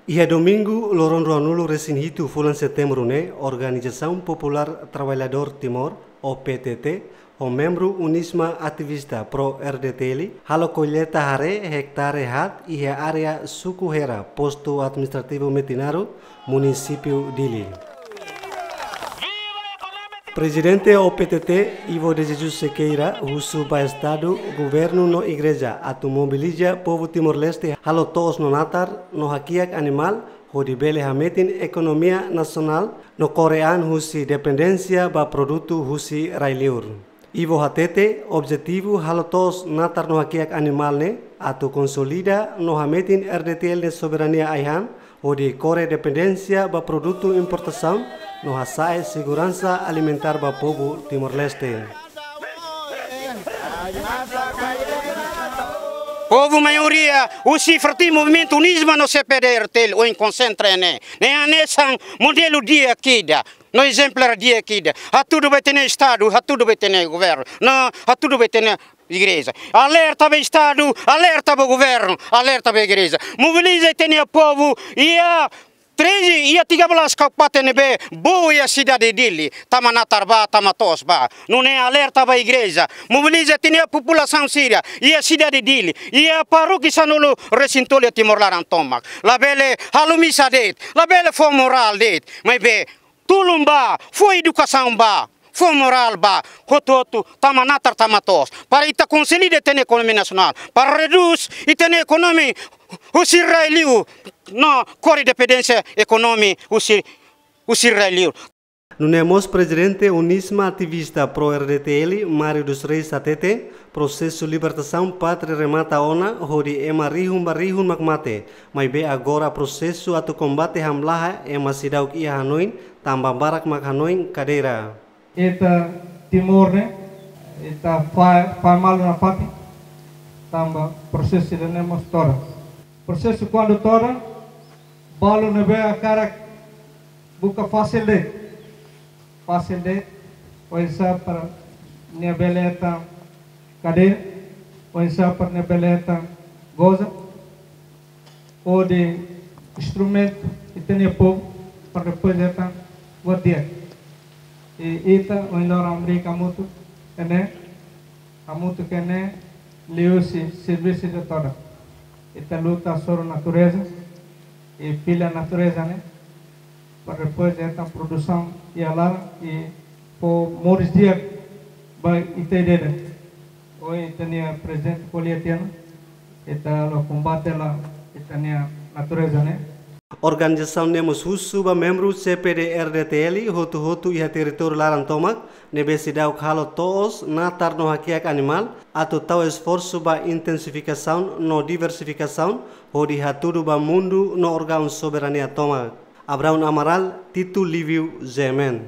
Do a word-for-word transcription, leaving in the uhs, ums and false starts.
Iha domingu, loron ruanulu resin hitu fulan Setembru ne'e, Organizasaun Populár Traballadór Timor, O P T T, ho membru UNISMA ativista pró-R D T L, halo kolleta haree hektare haat iha área Suku Hera, Postu Administrativu Metinaro, Munisípiu Dili. Prezidente O P T T, Ivo de Jesus Sequeira, husu ba Estadu, Governu no Igreja atu mobiliza povu Timor-Leste halo to'os no natar no hakiak animál, hodi bele hametin ekonomia nasionál no kore an husi dependénsia ba produtu husi rai-liur. Ivo hatete, objetivu halo to'os natar no hakiak animál ne'e atu konsolida no hametin R D T L nia soberania ai-han, hodi kore dependénsia ba produtu importasaun no hasa'e seguransa alimentár ba povu Timor-Leste. Povu maioria, husi frente Movimentu UNISMA no C P D R T L, ohin konsentra ne'e. Ne'e hanesan modelu di'ak ida, no ezemplár di'ak ida. Hatudu ba ita-nia Estadu, hatudu ba ita-nia Governu, no hatudu ba ita-nia Igreja. Alerta ba Estadu, alerta ba Governu, alerta ba Igreja. Mobiliza ita-nia povu, iha treze, iha tiga belas kabupaten ne'ebé boot iha sidade Dili, tama natar bá, tama to'os bá. Nune'e alerta ba Igreja, mobiliza ita-nia populasaun sira, iha sidade Dili, iha parókia sanulu resin tolu iha Timor laran tomak. Labele halo misa de'it, labele fó morál de'it, maibé tulun bá, fó edukasaun bá, fó morál bá, hotu-hotu, tama natar tama to'os. Para ita konsolida ita-nia ekonomia nasionál, para redús ita-nia ekonomia husi rai-liur, no kore dependénsia ekonomia husi, husi rai-liur. Nune'e mós Prezidente UNISMA ativista pró-R D T L, Mário dos Reis hatete, prosesu libertasaun pátria remata ona, hodi ema rihun ba rihun mak mate. Maibé agora prosesu atu kombate hamlaha ema seidauk iha hanoin, tanba barak mak hanoin kadeira. Ita Timor ne'e, ita fai, fai malu nafatin, tanba prosesu ida-ne'e mós todan. Prosesu kuandu todan, balu ne'ebé hakarak buka fasil de'it. Fasil de'it, oinsá para nia bele hetan kadeira, oinsá para nia bele hetan goza, hodi instrumentu ita-nia povu, para depois hetan buat di'ak. I ita, ohin loron Amérika hamutuk iha ne'e, hamutuk iha ne'e, liuhusi servisu ida todan. Ita luta hasoru natureza, i fila natureza ne'e, para depois ita produsaun iha laran, i fó moris di'ak ba ita ida-idak. Ohin ita-nia prezidente ko'alia tiha ona, ita halo kombate hela ita-nia natureza ne'e. Organizasaun ne'e mós husu ba membru C P D R D T L hotu-hotu iha territóriu laran tomak, ne'ebé seidauk halo to'os, natar no hakiak animál, atu tau esforsu ba intensifikasaun no diversifikasaun, hodi hatudu ba mundu no órgaun soberania tomak. Abraão Amaral, Tito Livio, G M N.